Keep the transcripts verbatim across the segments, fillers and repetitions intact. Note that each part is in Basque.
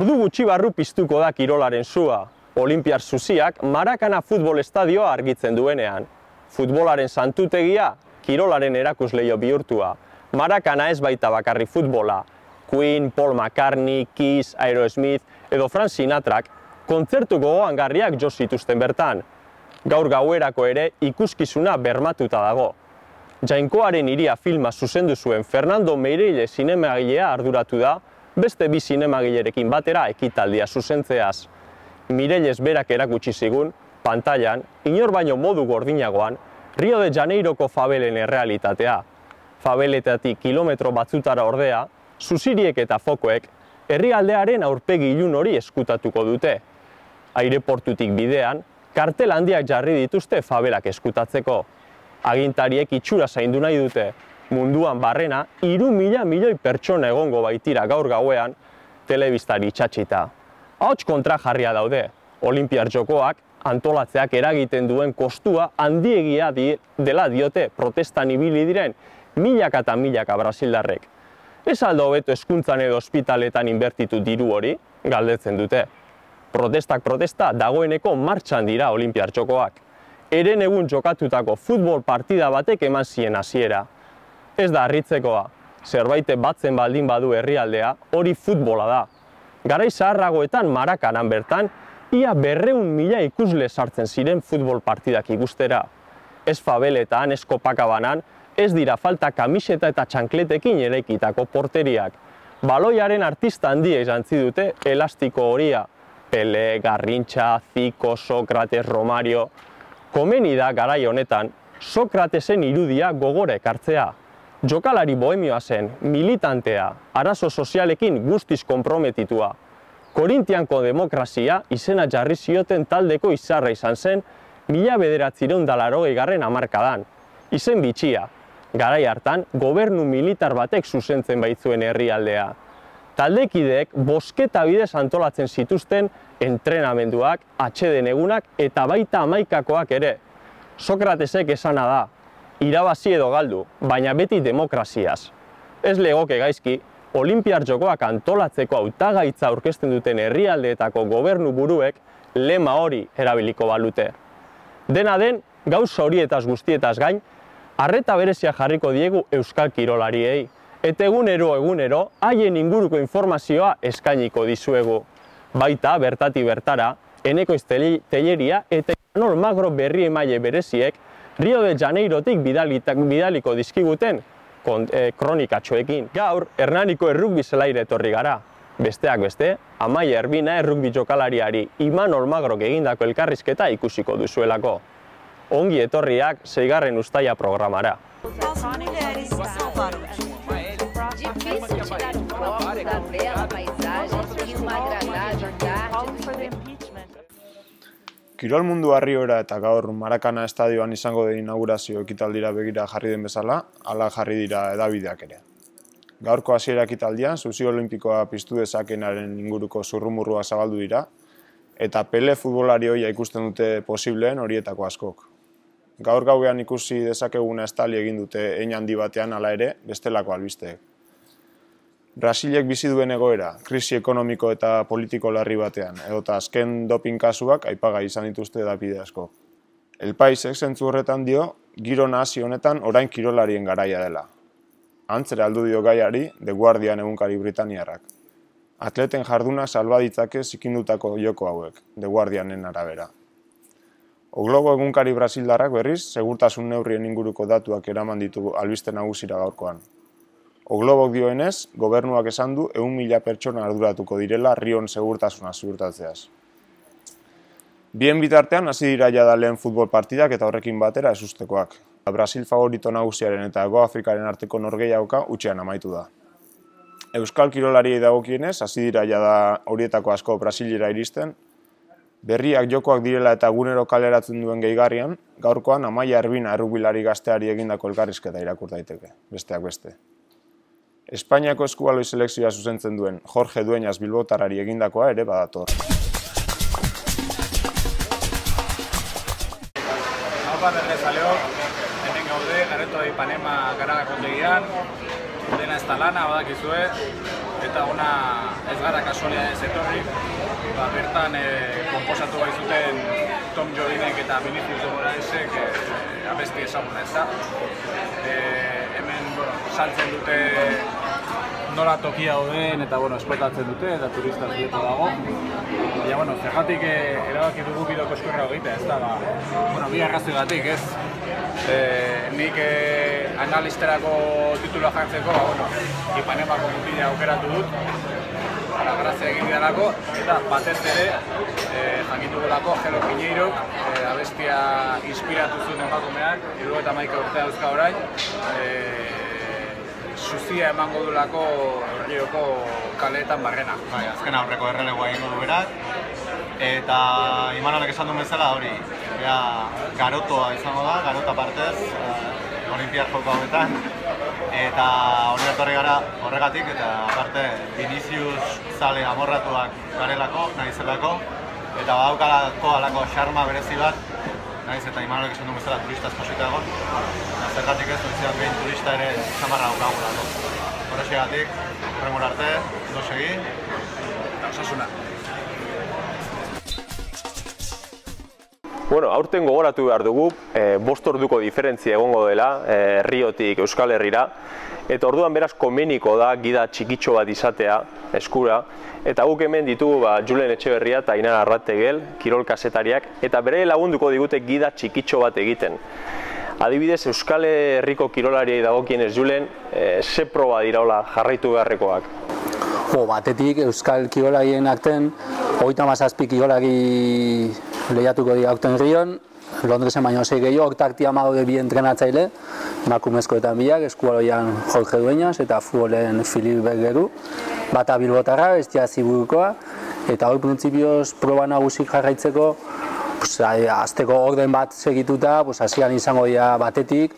Ordu gutxi barru piztuko da kirolaren sua. Olinpiar zuziak Marakana futbol estadioa argitzen duenean. Futbolaren santutegia, kirolaren erakusleio bihurtua. Marakana ez baita bakarri futbola. Queen, Paul McCartney, Kiss, Aerosmith edo Frank Sinatrak kontzertu gogoangarriak jo zituzten bertan. Gaur gauerako ere ikuskizuna bermatuta dago. Jainkoaren hiria filma zuzendu zuen Fernando Meireille zinemagilea arduratu da, beste bi zinemagilerekin batera ekitaldia zuzentzeaz. Mireilles berak erakutsi zigun, pantailan, inor baino modu gordinagoan, Rio de Janeiroko fabelen errealitatea. Fabeletatik kilometro batzutara ordea, zuziriek eta fokoek, herrialdearen aurpegi ilun hori eskutatuko dute. Aireportutik bidean, kartel handiak jarri dituzte fabelak eskutatzeko. Agintariek itxura zaindu nahi dute, munduan barrena, hiru mila milioi pertsona egongo baitira gaur gauean, telebistari itxatxita. Ahots kontrajarria daude, Olinpiar Jokoak antolatzeak eragiten duen kostua handiegia dela diote protestan ibili diren milaka eta milaka brasildarrek. Ez aldo hobeto hezkuntzan edo ospitaletan inbertitu diru hori, galdetzen dute. Protestak protesta dagoeneko martxan dira Olinpiar Jokoak. Eren egun jokatutako futbol partida batek eman zien hasiera. Ez da harritzekoa, zerbait batzen baldin badu herrialdea, hori futbola da. Garai zaharragoetan Marakanan bertan, ia berreun mila ikusle sartzen ziren futbol partidak ikustera. Ez fabeletan, ez Copacabana, ez dira falta kamiseta eta txankletekin eraikitako porteriak. Baloiaren artista handia jantzi dute elastiko horia. Pele, Garrintxa, Zico, Sokrates, Romario. Komeni da garai honetan, Sokratesen irudia gogora ekartzea. Jokalari bohemioa zen, militantea, arazo sozialekin guztiz konprometitua. Korintianko demokrazia izena jarri zioten taldeko izarra izan zen, mila bederatziehun eta laurogeigarren hamarkadan. Izen bitxia, garai hartan gobernu militar batek zuzentzen baitzuen herrialdea. Taldekideek bosketa bidez antolatzen zituzten entrenamenduak, atseden egunak eta baita hamaikakoak ere. Sokratesek esana da, irabazi edo galdu, baina beti demokraziaz. Ez legoke gaizki, Olinpiar Jokoak antolatzeko hautagaitza aurkezten duten herrialdeetako gobernu buruek lema hori erabiliko balute. Dena den, gauza horietaz guztietaz gain, arreta berezia jarriko diegu euskal kirolariei, eta egunero egunero haien inguruko informazioa eskainiko dizuegu. Baita, bertati bertara, Enekoiz Telleria eta Imanol Magro berri emaile bereziek Rio de Janeirotik bidaliko dizkiguten kronikatxoekin. Gaur, Hernaniko errugbi zelaire etorri gara. Besteak beste, Amaia Erbina errugbi jokalariari Imanol Magrok egindako elkarrizketa ikusiko duzuelako. Ongi etorriak seigarren uztaila programara. Kirol mundu Arriora eta gaur Marakana estadioan izango den inaugurazio ekitaldira begira jarri den bezala, hala jarri dira hedabideak ere. Gaurko hasiera ekitaldian, zuzi olimpikoa piztu dezakenaren inguruko zurrumurrua zabaldu dira, eta Pele futbolari hoia ikusten dute posibleen horietako askok. Gaur gauean ikusi dezakeguna estali egin dute hein handi batean hala ere, bestelako albisteek. Brasilek bizi duen egoera, krisi ekonomiko eta politiko larri batean, edota azken doping kasuak aipagai izan dituzte hedabide asko. El Paisek zentzu horretan dio, giro nahasi honetan orain kirolarien garaia dela. Antzera aldu dio gaiari, The Guardian egunkari britaniarrak. Atleten jarduna salba ditzake zikindutako joko hauek, The Guardianen arabera. O Globo egunkari brasildarrak berriz, segurtasun neurrien inguruko datuak eraman ditu albiste nagusira gaurkoan. O Globok dioenez, gobernuak esan du ehun mila pertsona arduratuko direla Rion segurtasuna ziurtatzeaz. Bien bitartean hasi dira jada lehen futbol partidak eta horrekin batera ezustekoak. Brasil favorito nagusiaren eta Hego Afrikaren arteko norgehiagoka hutsean amaitu da. Euskal kirolariei dagokienez hasi dira jada horietako asko Brasilera iristen. Berriak jokoak direla eta egunero kaleratzen duen gehigarrian, gaurkoan Amaia Erbina errugbilari gazteari egindako elkarrizketa irakur daiteke, besteak beste. Espainiako eskubaloi selekzioa zuzentzen duen Jorge Dueñas bilbotarari egindakoa ere badator. Haupa berrezaleok, hemen gaude, Gareto de Ipanema Garaga kontegian, dena ez da lana, badakizue, eta ona ez gara kasualia ez etorri, ba, bertan e, komposatu baizuten Tom Jodinek eta Vinicius de Moraesek e, abesti ezaguna ez da. E, hemen bueno, saltzen dute nola tokia dauden eta bueno, esplotatzen dute eta turista asko dago. Baina, bueno, zergatik e, erabaki dugu bideo koskorra egitea, ez da, ba, bueno, bi arrazoigatik, ez? E, nik e, analisterako titulua jartzeko, ba, bueno, Ipanemako mutila aukeratu dut, ara grazia egin didalako, eta batez ere, e, jakitugulako Jero Piñeirok, e, abestia inspiratu zuen emakumeak, hirurogeita hamaika urtea dauzka orain, e, Zuzia emango dulako Rioko kaleetan barrena. Bai, azken aurreko errelegoa egingo du berak, eta Imanolek esan duen bezala hori, bea garotoa izango da, garota partez, uh, Olimpiar joko hauetan, eta hori etorri gara horregatik, eta aparte Vinicius zale amorratuak garelako, nahizelako, eta badaukalako alako xarma berezi bat, nahiz eta Imanolek esan duen bezala turista espasita egon, zergatik ez, oizian behin turista ere zamarra daukagulako. Horrexegatik, horrengor arte, ondo segi, eta osasuna. Bueno, aurten gogoratu behar dugu, e, bost orduko diferentzia egongo dela, e, Riotik Euskal Herrira, eta orduan beraz komeniko da gida txikitxo bat izatea eskura, eta guk hemen ditugu ba, Julen Etxeberria eta Ainara Arrategel, kirol kazetariak, eta bere lagunduko digute gida txikitxo bat egiten. Adibidez, Euskal Herriko kirolariei dagokienez Julen, e, ze proba diraola jarraitu beharrekoak? Jo, batetik Euskal kirolarien akten, hogeita hamazazpi kirolari lehiatuko dira aurten Rion, Londresen baino sei gehiago, hortak daude bi entrenatzaile, emakumezkoetan biak, eskubaloian Jorge Dueñas eta futbolen Filip Bergeru, bata bilbotarra, bestia Ziburukoa, eta hor printzipioz proba nagusik jarraitzeko, pues, azteko orden bat segituta, pues, hasieran izango dira batetik,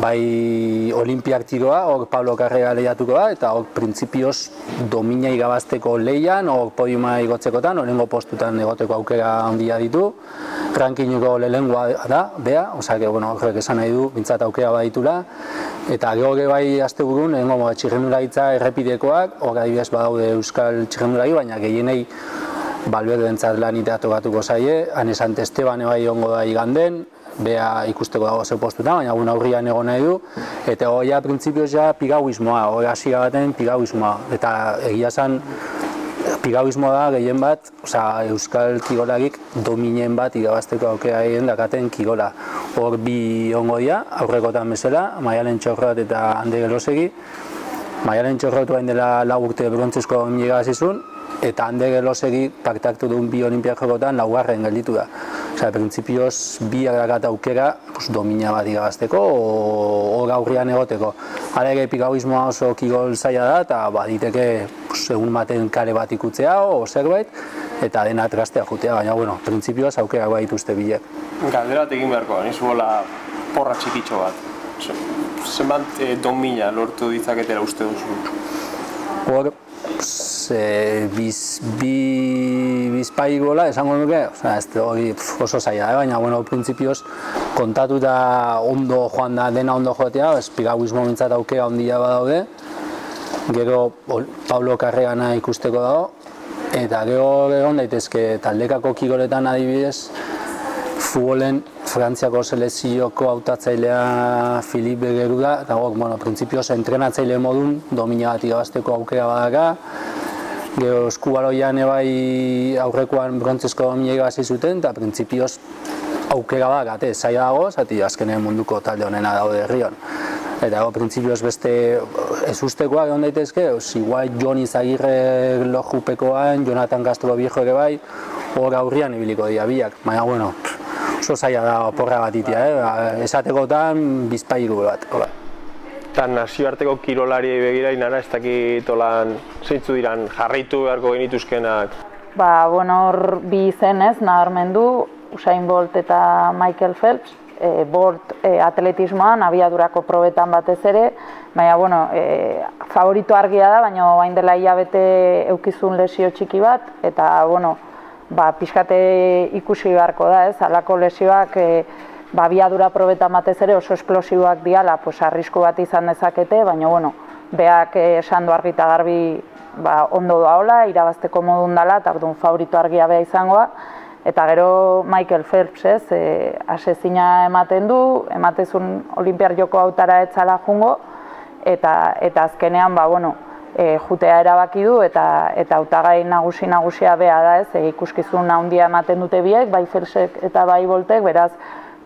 bai Olimpiak tiroa, hor Pablo Carrera lehiatuko da, eta hor printzipioz domina igabazteko lehian, hor podiuma igotzekotan, horrengo postutan egoteko aukera handia ditu, rankinguko lehenengoa da, bea, osea, bueno, horrek esan nahi du, bintzat aukera baditula, eta gero bai asteburun, lehenengo txirrendularitza errepidekoak, hor adibidez badaude Euskal txirrendulari, baina gehienei Balberdentzat lanitea tokatuko zaie, Ane Sant Esteban bai egongo da iganden, bea ikusteko dago ze postuta, baina guna aurrian egon nahi du, eta hoia printzipioz ja pigauismoa, hori hasiera baten pigauismoa, eta egia esan pigauismoa da gehien bat, osea, Euskal kirolarik dominen bat irabazteko aukera egin dakaten kirola. Hor bi ongo dira, aurrekotan bezala, Maialen Txorrot eta Ander Elosegi. Maialen Txorrot bain dela lau urte brontzezko irabazizun, eta Ander Elosegi parte hartu duen bi Olimpiak jokotan laugarren gelditu da. Osea, printzipioz bi dakat aukera pues, domina bat irabazteko, hor aurrian egoteko. Hala ere pigauismoa oso kirol zaila da, eta baditeke pues, egun baten kare bat ikutzea o zerbait, eta dena trastea jutea, baina bueno, printzipioz aukera bat dituzte bilek. Galdera bat egin beharko, nizu bola porra txikitxo bat. Zenbat e, domina lortu ditzaketela uste duzu? Hor, e, biz, bi bizpai gola esango nuke, osea, ez hori oso zaila da, baina bueno, printzipioz kontatuta ondo joan da, dena ondo joatea, ez pigauismo mintzat aukera ondia badaude, gero Pablo Carregana ikusteko dago, eta gero egon daitezke taldekako kiroletan adibidez, futbolen Frantziako selezioko hautatzailea Filip Bergeru da, eta gok, bueno, printzipioz entrenatzaile modun domina bat irabazteko aukera badaka, gero eskubaloian ebai aurrekoan brontzezko domina irabazi zuten, eta printzipioz aukera badakate, zaila dago, zati azkenen munduko talde honena daude Rion. Eta go, printzipioz beste ez ustekoak egon daitezke, igual Jon Izagirre lojupekoan, Jonathan Castro Viejo ere bai, hor aurrian ibiliko dira biak, baina bueno, oso zaila da porra bat itia, eh? Esatekotan bizpairu bat. Eta nazioarteko kirolariei begira, Ainara, ez dakit olan zeintzu diran jarraitu beharko genituzkenak? Ba, bueno, hor bi izen ez, nabarmendu, Usain Bolt eta Michael Phelps, e, Bolt e, atletismoan, abiadurako probetan batez ere, baina, bueno, e, favorito argia da, baina bain dela hilabete eukizun lesio txiki bat, eta, bueno, ba, pixkate ikusi beharko da, ez, halako lesioak e, ba, abiadura probetan batez ere oso esplosiboak diala, pues, arrisku bat izan dezakete, baina, bueno, beak esan du argi eta garbi ba, ondo doaola, irabazteko modun dela, eta orduan favorito argia beha izangoa. Eta gero Michael Phelps, ez, e, asezina ematen du, ematezun Olimpiar Joko hautara etzala jungo, eta, eta azkenean, ba, bueno, e, jutea erabaki du, eta, eta hautagai nagusi nagusia beha da, ez, e, ikuskizun handia ematen dute biek, bai Phelpsek eta bai Boltek, beraz,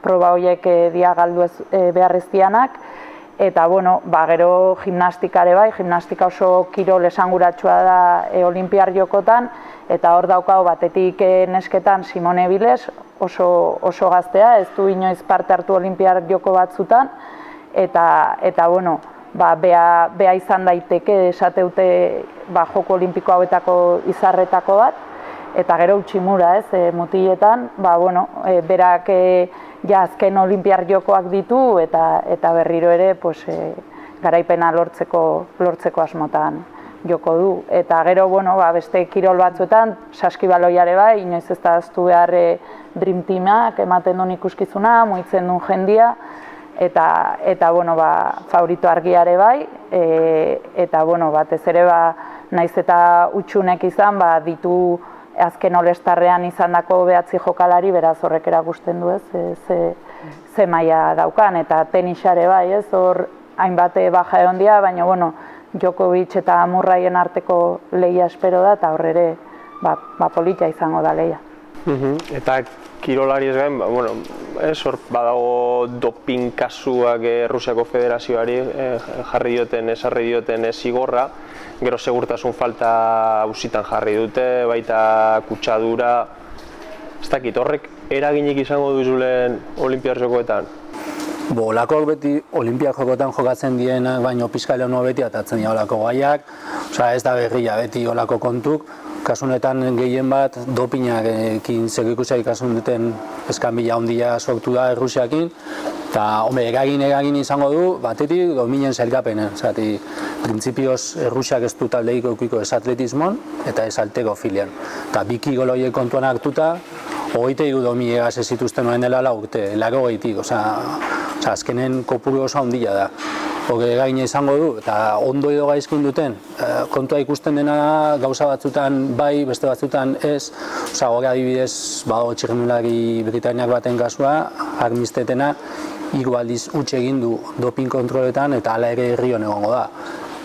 proba horiek e, dia galdu ez, e, beharreztianak, eta, bueno, ba, gero gimnastikare bai, gimnastika oso kirol esanguratsua da e, Olimpiar Jokotan, eta hor daukau batetik nesketan Simone Biles, oso, oso gaztea, ez du inoiz parte hartu Olimpiar Joko batzutan, eta, eta bueno, ba, bea, bea izan daiteke esateute ba, Joko Olimpiko hauetako izarretako bat, eta gero Utsimura, ez, e, mutiletan, ba, bueno, e, berak e, ja azken Olimpiar Jokoak ditu, eta, eta berriro ere pues, e, garaipena lortzeko, lortzeko asmotan joko du. Eta gero, bueno, ba, beste kirol batzuetan, saskibaloiare bai, inoiz ez da aztu behar e, Dream Teamak ematen duen ikuskizuna, muitzen duen jendia, eta, eta bueno, ba, favorito argiare bai, e, eta, bueno, batez ere, ba, naiz eta utxunek izan, ba, ditu azken olestarrean izandako behatzi jokalari, beraz horrek erakusten du, ez, e, ze, ze maila daukan, eta tenisare bai, ez, hor hainbate baja egon dia, baina, bueno, Djokovic eta Murrayen arteko lehia espero da, eta horrere ba, ba, polita izango da lehia. Uh-huh. Eta kirolari ez gain, ba, bueno, ez hor badago doping kasuak eh, Rusiako Federazioari eh, jarri dioten, esarri dioten eh, zigorra, gero segurtasun falta auzitan jarri dute, baita kutsadura, ez dakit, horrek eraginik izango duzulen Olimpiar Jokoetan? Bo, olakoak beti Olimpiak Jokotan jokatzen dienak, baino pizkale hono beti atatzen dira olako gaiak, osea ez da berria beti olako kontuk, kasunetan gehien bat dopinarekin zerikusia ikasun duten eskanbila handia sortu da Errusiakin, eta home, eragin eragin izango du, batetik dominen zelkapenen, zati, printzipioz Errusiak ez du taldeik eukiko ez atletismon eta ez halterofilian, eta bi kirol horiek kontuan hartuta, hogeita hiru dominegaz ez zituzten noen dela lau urte, laro gehitik, osea, azkenen kopuru oso handia da. Hore gaina izango du, eta ondo edo gaizkin duten, kontua ikusten dena gauza batzutan bai, beste batzutan ez, osea, hori adibidez, badago txirrindulari Britainiak baten kasua, armistetena, hiru aldiz huts egin du doping kontroletan, eta hala ere herrion egongo da.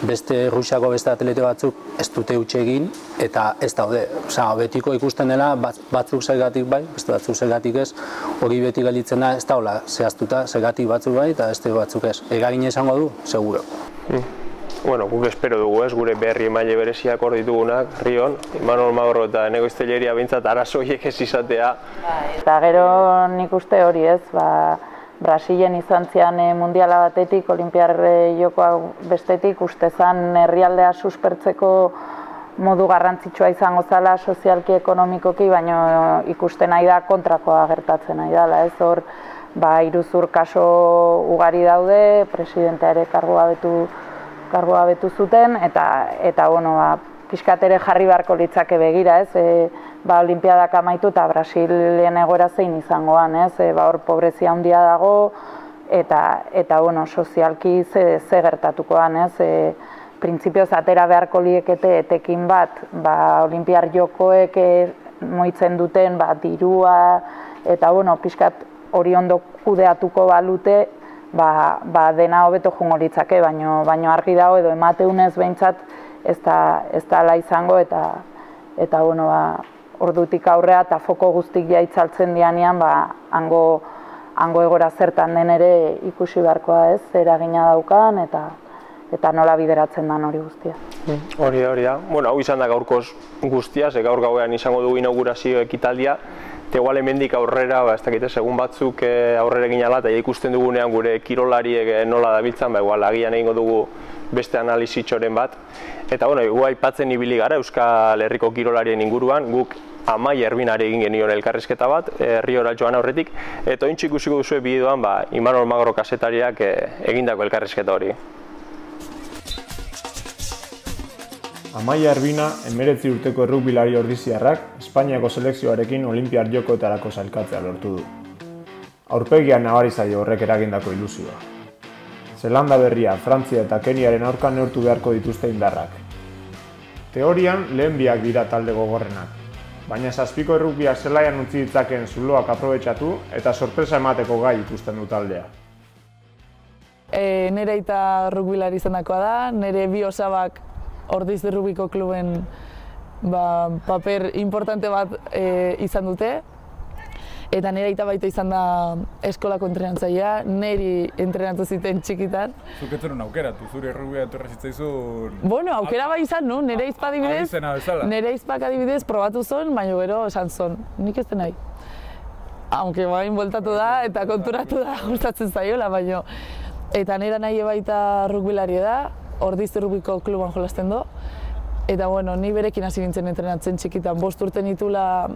Beste Rusiako beste atlete batzuk ez dute huts egin eta ez daude. Osea, betiko ikusten dela batzuk zergatik bai, beste batzuk zergatik ez, hori beti gelditzen da ez daula zehaztuta, zergatik batzuk bai eta beste batzuk ez. Eragina izango du, seguro. Mm. Bueno, guk espero dugu ez, gure berri emaile bereziak hor ditugunak, Rion, Imanol Magro eta Enego Izteleria behintzat arazoiek ez izatea. Eta gero nik uste hori ez, ba, Brasilen izan zian mundiala batetik, Olimpiar Jokoa bestetik, uste zan herrialdea suspertzeko modu garrantzitsua izango zala sozialki, ekonomikoki, baina ikusten nahi da kontrakoa gertatzen nahi dela. Ez hor, ba, iruzur kaso ugari daude, presidentea ere kargoa betu, kargoa betu zuten, eta, eta bueno, ba, pixkat ere jarri beharko litzake begira, ez? E, ba, Olimpiadak amaitu eta Brasilen egoera zein izangoan, ez? E, ba, hor pobrezia handia dago, eta, eta bueno, sozialki ze, ze gertatukoan, ez? E, printzipioz atera beharko liekete etekin bat, ba, Olimpiar Jokoek moitzen duten, ba, dirua, eta bueno, pixkat hori ondo kudeatuko balute, ba, ba, dena hobeto jungo litzake, baino, baino argi dago edo emateunez behintzat ez da, ez da ala izango, eta, eta bueno, ba, ordutik aurrea eta foko guztik jaitzaltzen dianean, ba, hango, hango egora zertan den ere ikusi beharkoa ez, eragina daukan, eta, eta nola bideratzen dan hori guztia. Hori da, hori da. Bueno, hau izan da gaurkoz guztia, ze gaur gauean izango dugu inaugurazio ekitaldia, eta igual hemendik aurrera, ba, ez dakite, segun batzuk aurrera egin ala, eta ikusten dugunean gure kirolariek nola dabiltzan, ba, igual agian egingo dugu beste analizitxoren bat. Eta, bueno, igual aipatzen ibili gara Euskal Herriko kirolarien inguruan, guk Amaia Erbinari egin genion elkarrizketa bat, Herriora joan aurretik, eta ointxe ikusiko duzue bideoan, ba, Imanol Magro kazetariak egindako elkarrizketa hori. Amaia Erbina, emeretzi urteko errukbilari ordiziarrak, Espainiako selekzioarekin Olimpiar Jokoetarako sailkatzea lortu du. Aurpegian nabari zaio horrek eragindako ilusioa. Zelanda Berria, Frantzia eta Keniaren aurka neurtu beharko dituzte indarrak. Teorian lehen biak dira talde gogorrenak, baina zazpiko errukbiak zelaian utzi ditzakeen zuloak aprobetxatu eta sorpresa emateko gai ikusten du taldea. E, nire aita rugbilari izendakoa da, nire bi osabak Ordizte Rugbyko kluben ba, paper importante bat e, izan dute. Eta nire aita baita izan da eskolako entrenatzailea, niri entrenatu ziten txikitan. Zuk ez zenun aukeratu, zure errugbia etorri zitzaizun... Bueno, aukera bai izan nu, nire izpa adibidez, nire izpak adibidez probatu zon, baina gero esan zon, nik ez den nahi. Aunque bain bueltatu da eta konturatu da gustatzen zaiola, baina... Eta nire nahi baita rugbilari da, Ordizte Rugbyko kluban jolasten do. Eta bueno, ni berekin hasi nintzen entrenatzen txikitan, bost urte nitula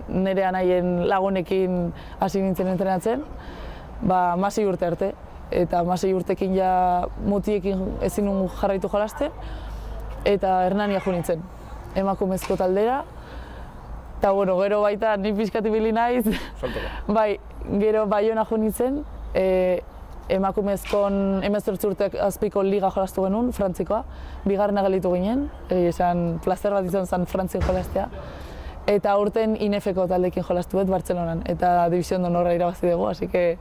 nire anaien lagunekin hasi nintzen entrenatzen, ba, masei urte arte. Eta masei urtekin ja mutiekin ezin nun jarraitu jolasten, eta Hernania jo nintzen, emakumezko taldera. Eta bueno, gero baita ni pixkat ibili naiz, bai, gero Baiona jo nintzen, e, emakumezkon hemezortzi urtek azpiko liga jolastu genuen, Frantzikoa. Bigarrena gelditu ginen, esan plazer bat izan zen Frantzien jolastea. Eta aurten I N F-ko taldekin jolastu dut Bartzelonan, eta División de Honorra irabazi dugu, así que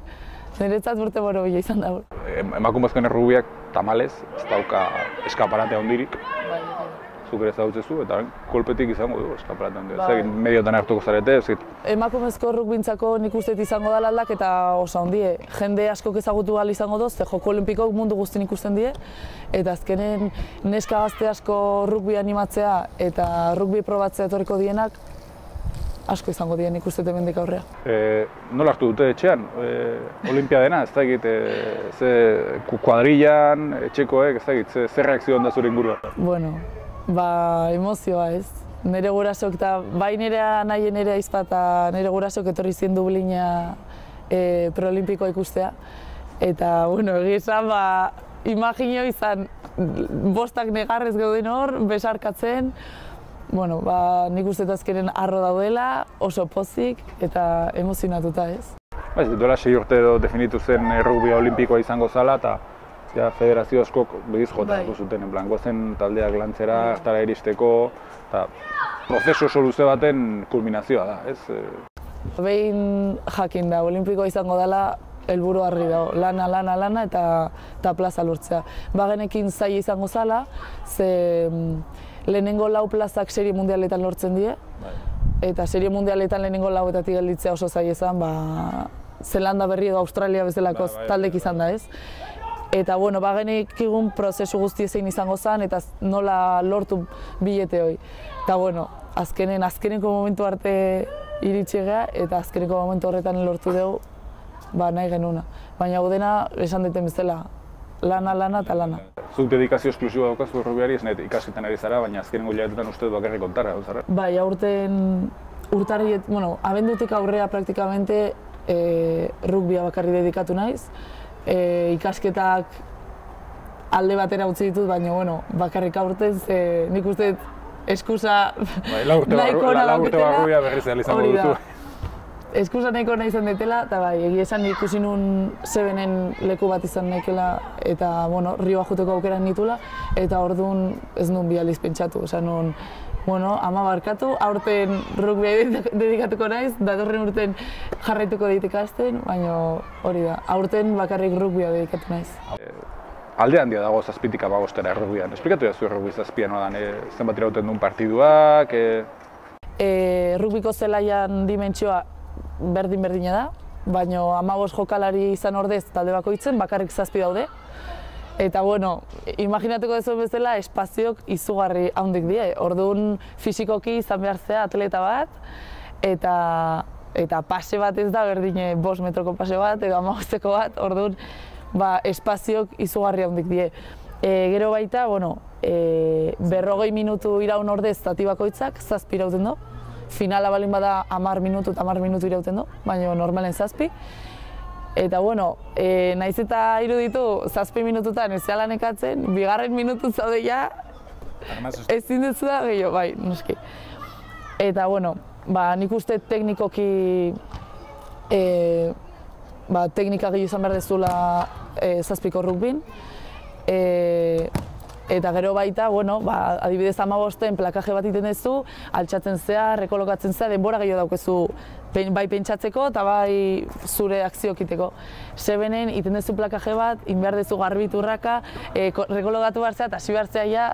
niretzat urte borobila izan dago. Emakumezkoen errubiak tamalez, ez dauka eskaparate handirik. Zuk ere zautzezu, eta kolpetik izango du eskaparate handirik. Ez egin mediotan hartuko zarete, ez egin. Emakumezko errukbintzako nik uste izango da aldak eta oso handie. Jende askok ezagutu ahal izango doz, ze joko olimpikok mundu guztin ikusten die. Eta azkenen neska gazte asko rugby animatzea eta rugby probatzea etorriko dienak asko izango dien ikusten hemendik aurrea. E, nola hartu dute etxean? E, Olimpiadena, ez da egit, e, ze kuadrillan, etxekoek, ez da egit, ze, ze reakzio da zure ingurua? Bueno, ba, emozioa ez. Nire gurasok eta bai nire nahien nire aizpa eta nire gurasok etorri zien Dublina e, preolimpikoa ikustea. Eta, bueno, egizan, ba, imaginio izan bostak negarrez gauden hor, besarkatzen. Bueno, ba, nik uste azkenen arro daudela, oso pozik eta emozionatuta ez. Ba, ez duela sei urte edo definitu zen errugbia olimpikoa izango zala eta ja, federazio askok begiz jota bai. Zuten, en plan, gozen taldeak lantzera, hartara iristeko, eta prozesu oso luze baten kulminazioa da, ez? Behin jakin da, olimpikoa izango dela, helburu argi dago, lana, lana, lana eta, eta plaza lortzea. Bagenekin zaila izango zala, ze lehenengo lau plazak serie mundialetan lortzen die, eta serie mundialetan lehenengo lauetatik gelditzea oso zaila izan, ba, Zelanda berri edo Australia bezalako taldek izan da ez. Eta bueno, bagenek egun prozesu guzti zein izango zen, eta nola lortu bilete hoi. Eta bueno, azkenen, azkeneko momentu arte iritsi gea, eta azkeneko momentu horretan lortu dugu, ba, nahi genuna. Baina hau dena, esan deten bezala, lana, lana eta lana. Zuk dedikazio esklusiboa daukazu errugbiari, ez nahi ikasketan ari zara, baina azkenengo hilabetetan uste dut bakarrik kontara, hau zara? Bai, aurten urtarri, bueno, abendutik aurrea praktikamente e, rugbia bakarri dedikatu naiz. E, ikasketak alde batera utzi ditut, baina bueno, bakarrik aurten, ze nik uste eskusa bai, nahiko ona dauketela. Berriz izango duzu. Eskusa nahiko nahi izan detela, eta bai, egia esan ikusi nun Sebenen leku bat izan naikela, eta bueno, Rioa juteko aukeran nitula, eta orduan ez nun bi aldiz pentsatu, esan nun, bueno, ama barkatu, aurten rugbia dedikatuko naiz, datorren urten jarraituko dit ikasten, baina hori da, aurten bakarrik rugbia dedikatu naiz. Alde handia dago zazpitik abagostera errugbian. Esplikatu jazu errugbi zazpian odan, e, zenbat irauten duen partiduak? E... E, rugbiko zelaian dimentsioa berdin-berdina da, baina hamabost jokalari izan ordez talde bakoitzen, bakarrik zazpi daude. Eta bueno, imaginatuko dezuen bezala, espazioak izugarri handik die. Orduan fisikoki izan behar zea atleta bat, eta, eta pase bat ez da berdine bost metroko pase bat, edo hamabosteko bat, orduan ba, espazioak izugarri handik die. E, gero baita, bueno, e, berrogei minutu iraun ordez zati bakoitzak, zazpi irauten du. Finala balin bada hamar minutu eta hamar minutu irauten du, baina normalen zazpi. Eta bueno, e, naiz eta iruditu zazpi minututan ez zela nekatzen, bigarren minutu zaude ja ezin duzu da gehiago, bai, noski. Eta bueno, ba, nik uste teknikoki e, ba, teknika gehiago izan behar dezula e, zazpiko rugbin. E, Eta gero baita, bueno, ba, adibidez hamabosten plakaje bat iten duzu, altxatzen zea, rekolokatzen zea, denbora gehiago daukezu bai pentsatzeko eta bai zure akziokiteko. Sebenen iten duzu plakaje bat, inbehar duzu garbiturraka, e, rekolokatu behar zea eta hasi behar zea ja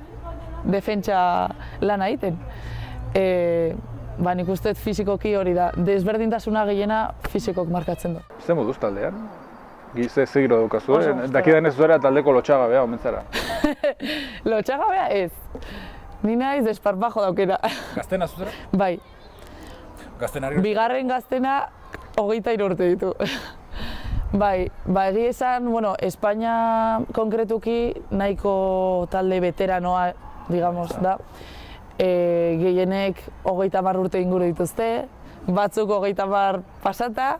defentsa lana egiten. E, ba, nik uste fisikoki hori da, desberdintasuna gehiena fisikok markatzen du. Zer moduz taldean? Gize zegiro daukazu, eh? Dakidan ez zuera taldeko lotxagabea, omentzara. Lotxagabea ez. Ni naiz desparpajo daukera. Gaztena zuzera? Bai. Gaztena ari? Bigarren gaztena hogeita hiru urte ditu. Bai, ba egia esan, bueno, Espainia konkretuki nahiko talde veteranoa, digamos, da. E, gehienek hogeita hamar urte inguru dituzte, batzuk hogeita hamar pasata,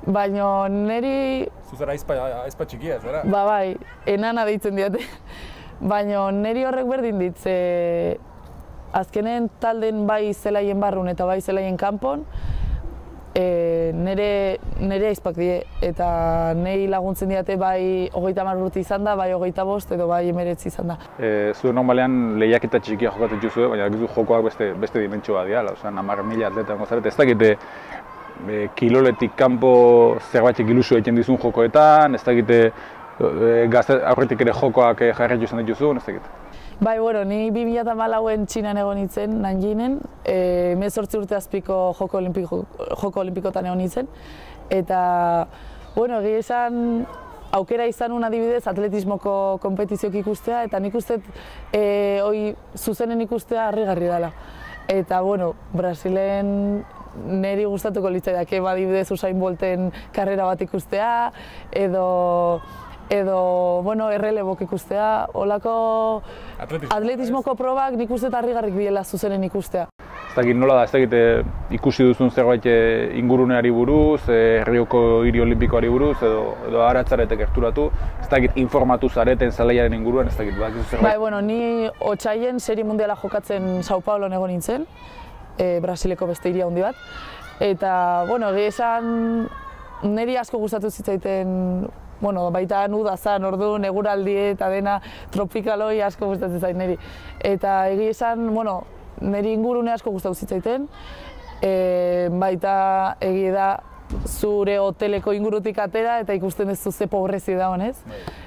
baina niri... Zuzera aizpa txikia, zera? Ba bai, enana deitzen diate. Baina niri horrek berdin dit, ze azkenen talden bai zelaien barrun eta bai zelaien kanpon, e, nire, nire aizpak die, eta nei laguntzen diate bai hogeita hamar urte izan da, bai hogeita bost edo bai emeretzi izan da. E, zu normalean lehiaketa txikia jokatzen duzu, baina gizu jokoak beste, beste dimentsioa dira, oza, hamar mila atleta gozarete, ez dakite E, kiloletik kanpo zerbaitek ilusio egiten dizun jokoetan, ez dakite e, gazte aurretik ere jokoak jarraitu izan dituzun, ez dakite. Bai, bueno, ni bi mila hamalauen Txinan egon nintzen, Nanjingen, hemezortzi urte azpiko joko, olimpiko, joko olimpikotan egon nintzen, eta, bueno, egia esan aukera izan un adibidez atletismoko konpetiziok ikustea, eta nik uste e, hoi zuzenen ikustea harrigarri dela. Eta, bueno, Brasilen niri gustatuko litzaidake adibidez Usain Bolten karrera bat ikustea, edo edo, bueno, errelebok ikustea, holako atletismoko probak nik uste harrigarrik diela zuzenen ikustea. Ez dakit nola da, ez dakit ikusi duzun zerbait inguruneari buruz, Herrioko hiri olimpikoari buruz, edo, edo aratzaretek gerturatu, ez dakit informatu zareten zelaiaren inguruan, ez dakit bat, zerbait? Bai, bueno, ni otsaien serie mundiala jokatzen Sao Paulo egon nintzen, e, Brasileko beste hiri handi bat, eta, bueno, egia esan niri asko gustatu zitzaiten, bueno, baita nuda zan, orduan, eguraldi eta dena tropikaloi asko gustatzen zait niri. Eta egia esan, bueno, niri ingurune asko gustatu zitzaiten, e, baita egia da zure hoteleko ingurutik atera eta ikusten ez ze pobrezi da honez.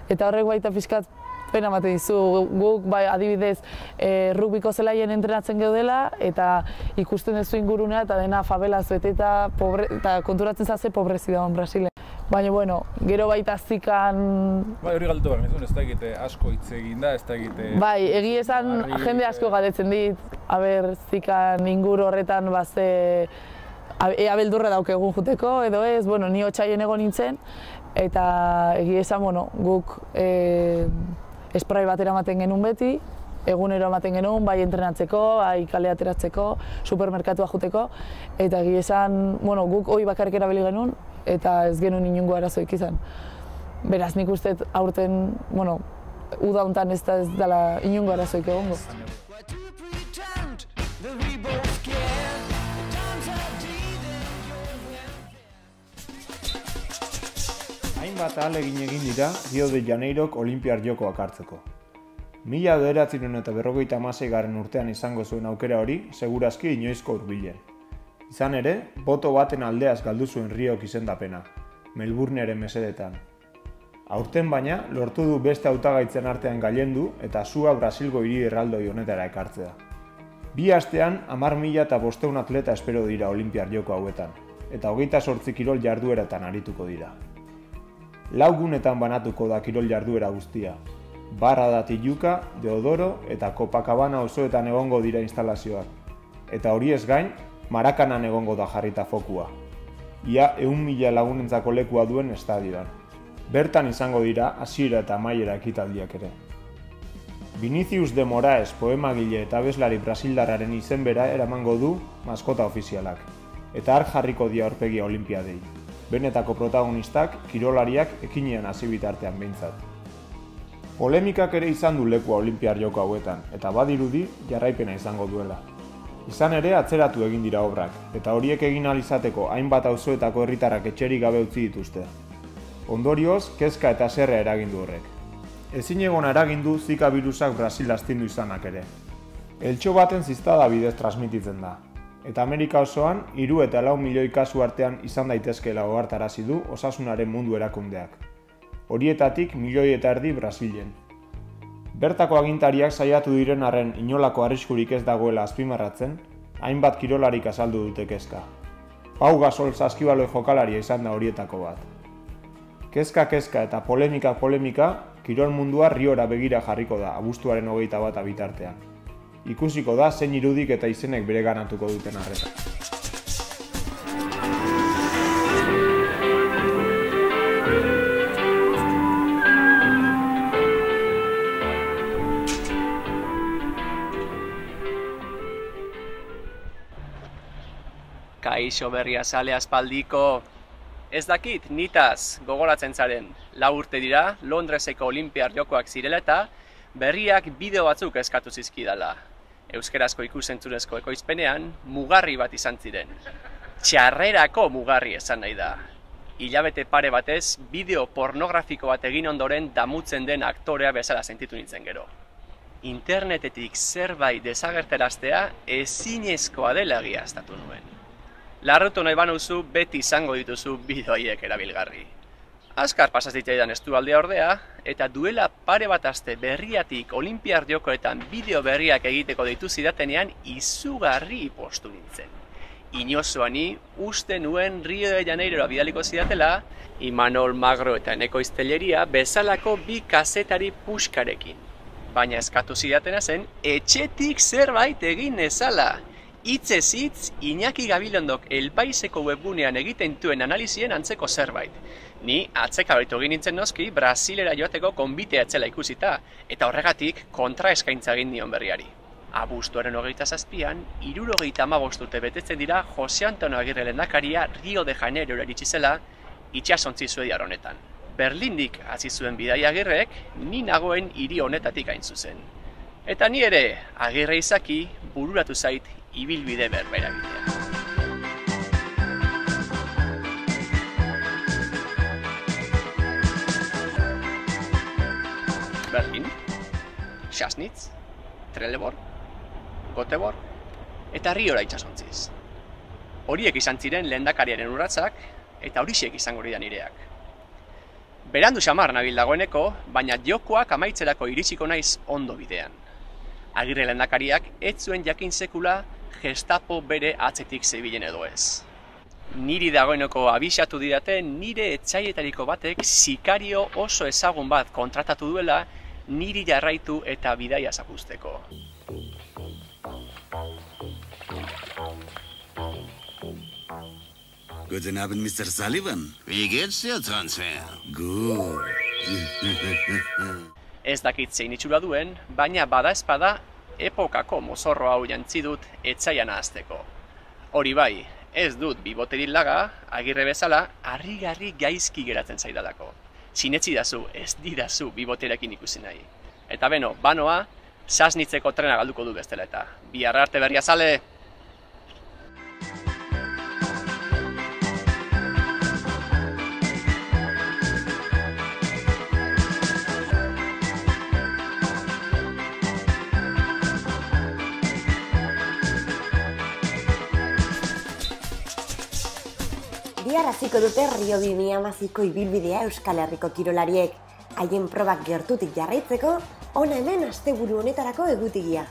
Eta horrek baita pixkat pena ematen dizu, guk bai, adibidez e, rugbiko zelaien entrenatzen geudela eta ikusten ez ingurunea eta dena favelaz bete eta, pobre, eta konturatzen zaze pobrezi da Brasilen. Baina, bueno, gero baita zikan... Bai, hori galdetu behar nizun, ez da egite asko hitz egin da, ez da egite... Bai, egi esan jende asko galdetzen dit, aber zikan inguru horretan baze... Ea beldurra daukegun juteko, edo ez, bueno, ni otsaien egon nintzen, eta egi esan, bueno, guk e, esprai bat eramaten genuen beti, egunero ematen genuen, bai entrenatzeko, bai kale ateratzeko, supermerkatua juteko, eta egi esan, bueno, guk hori bakarrik erabili genuen, eta ez genuen inungo arazoik izan. Beraz, nik uste aurten, bueno, uda hontan ez da ez dela inungo arazoik egongo. Hainbat ahalegin egin dira Rio de Janeirok Olinpiar Jokoak hartzeko. Mila bederatziehun eta berrogeita hamaseigarren urtean izango zuen aukera hori, segurazki inoizko hurbilen. Izan ere, boto baten aldeaz galdu zuen Riok izendapena, Melbourneren mesedetan. Aurten baina, lortu du beste hautagaitzen artean gailendu eta sua Brasilgo hiri erraldoi honetara ekartzea. Bi astean, hamar mila eta bostehun atleta espero dira Olinpiar Joko hauetan, eta hogeita zortzi kirol jardueratan arituko dira. Lau gunetan banatuko da kirol jarduera guztia. Barra da Tijuca, Deodoro eta Copacabana osoetan egongo dira instalazioak. Eta horiez gain, Marakanan egongo da jarrita fokua. Ia ehun mila lagunentzako lekua duen estadioan. Bertan izango dira hasiera eta amaiera ekitaldiak ere. Vinicius de Moraes poemagile eta abeslari brasildarraren izen bera eramango du maskota ofizialak. Eta har jarriko dia aurpegia olinpiadei. Benetako protagonistak, kirolariak ekinean hasi bitartean behintzat. Polemikak ere izan du lekua Olinpiar Joko hauetan, eta badirudi jarraipena izango duela. Izan ere atzeratu egin dira obrak, eta horiek egin ahal izateko hainbat auzoetako herritarrak etxerik gabe utzi dituzte. Ondorioz, kezka eta haserrea eragin du horrek. Ezinegona eragin du Zika birusak Brasil astindu izanak ere. Eltxo baten ziztada bidez transmititzen da, eta Amerika osoan hiru eta lau milioi kasu artean izan daitezkeela ohartarazi du Osasunaren Mundu Erakundeak. Horietatik milioi eta erdi Brasilen. Bertako agintariak saiatu diren arren inolako arriskurik ez dagoela azpimarratzen, hainbat kirolarik azaldu dute kezka. Pau Gasol saskibaloi jokalaria izan da horietako bat. Kezka-kezka eta polemika-polemika, kirol mundua Riora begira jarriko da abuztuaren hogeita bata bitartean. Ikusiko da zein irudik eta izenek bereganatuko duten arreta. Kaixo berria sale aspaldiko. Ez dakit, nitaz gogoratzen zaren. Lau urte dira, Londreseko Olimpiar Jokoak zirela eta berriak bideo batzuk eskatu zizkidala. Euskerazko ikusentzunezko ekoizpenean, mugarri bat izan ziren. Txarrerako mugarri esan nahi da. Hilabete pare batez, bideo pornografiko bat egin ondoren damutzen den aktorea bezala sentitu nintzen gero. Internetetik zerbait desagerteraztea ezinezkoa dela egiaztatu nuen. Larrutu nahi banuzu, beti izango dituzu bideo haiek erabilgarri. Azkar pasaz ditzaidan estualdea ordea, eta duela pare bat aste berriatik Olimpiar Jokoetan bideo berriak egiteko deitu zidatenean izugarri postu nintzen. Inozoani uste nuen Rio de Janeirora bidaliko zidatela, Imanol Magro eta Eneko Iztelleria bezalako bi kazetari puskarekin. Baina eskatu zidatena zen, etxetik zerbait egin nezala. Hitzez hitz, Iñaki Gabilondok El Paiseko webgunean egiten duen analizien antzeko zerbait. Ni atzekabaitu egin nintzen noski Brasilera joateko konbitea etzela ikusita, eta horregatik kontra eskaintza egin nion berriari. Abuztuaren hogeita zazpian, hirurogeita hamabost urte betetzen dira Jose Antonio Agirre lehendakaria Rio de Janeirora iritsi zela itsasontzi suediar honetan. Berlindik hasi zuen bidaia Agirrek, ni nagoen hiri honetatik hain zuzen. Eta ni ere, Agirre izaki, bururatu zait ibilbide berbera bidea. Berlin, Sassnitz, Trelleborg, Göteborg eta Riora itsasontziz. Horiek izan ziren lehendakariaren urratsak eta horiek izango dira nireak. Berandu xamar nabil dagoeneko, baina jokoak amaitzerako iritsiko naiz ondo bidean. Agirre lehendakariak ez zuen jakin sekula Gestapo bere atzetik zebilen edo ez. Niri dagoeneko abisatu didate nire etxaietariko batek sikario oso ezagun bat kontratatu duela niri jarraitu eta bidaia zapuzteko. Guten Abend, Mister Sullivan. Wie geht's dir, Transfer? Gut. Ez dakit zein itxura duen, baina bada espada epokako mozorro hau jantzi dut etzaian ahazteko. Hori bai, ez dut biboterik laga, Agirre bezala, harrigarri gaizki geratzen zaidalako. Sinetzi dazu, ez didazu biboterekin ikusi nahi. Eta beno, banoa, Sassnitzeko trena galduko du bestela eta. Bihar arte berria zale! Bihar hasiko dute Rio bi mila hamazazpiko ibilbidea Euskal Herriko kirolariek. Haien probak gertutik jarraitzeko, hona hemen asteburu honetarako egutegia.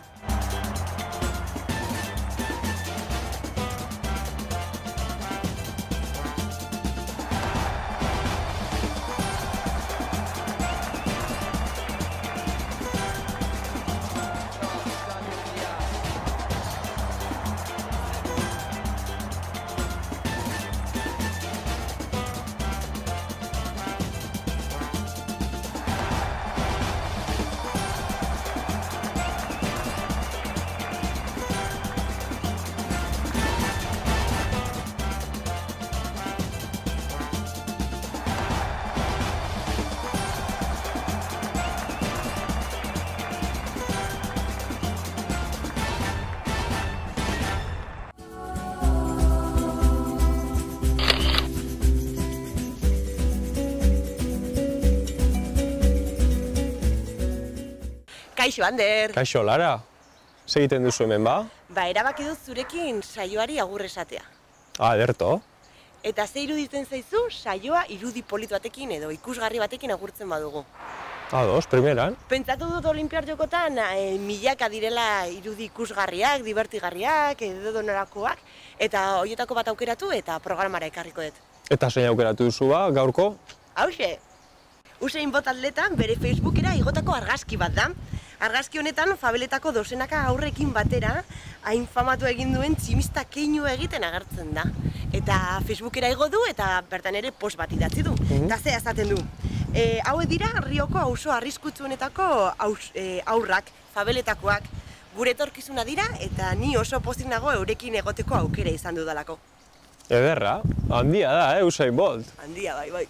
Kaixo, Ander! Kaixo, Lara. Zer egiten duzu hemen, ba? Ba, erabaki dut zurekin saioari agur esatea. Ah, ederto. Eta ze iruditzen zaizu saioa irudi polit batekin edo ikusgarri batekin agurtzen badugu. Ados, primeran. Pentsatu dut Olinpiar Jokotan e, milaka direla irudi ikusgarriak, divertigarriak, edo donorakoak, eta horietako bat aukeratu eta programara ekarriko dut. Eta zein aukeratu duzu ba, gaurko? Hauxe! Usain Bolt atletan bere Facebookera igotako argazki bat da. Argazki honetan fabeletako dozenaka aurrekin batera hain famatu egin duen tximista keinu egiten agertzen da. Eta Facebookera igo du eta bertan ere post bat idatzi du. Eta ze esaten du. E, hauek dira Rioko auzo arriskutsuenetako aus, e, aurrak, fabeletakoak, gure etorkizuna dira eta ni oso pozik nago eurekin egoteko aukera izan dudalako. Ederra, handia da, eh, Usain Bolt. Handia, bai, bai.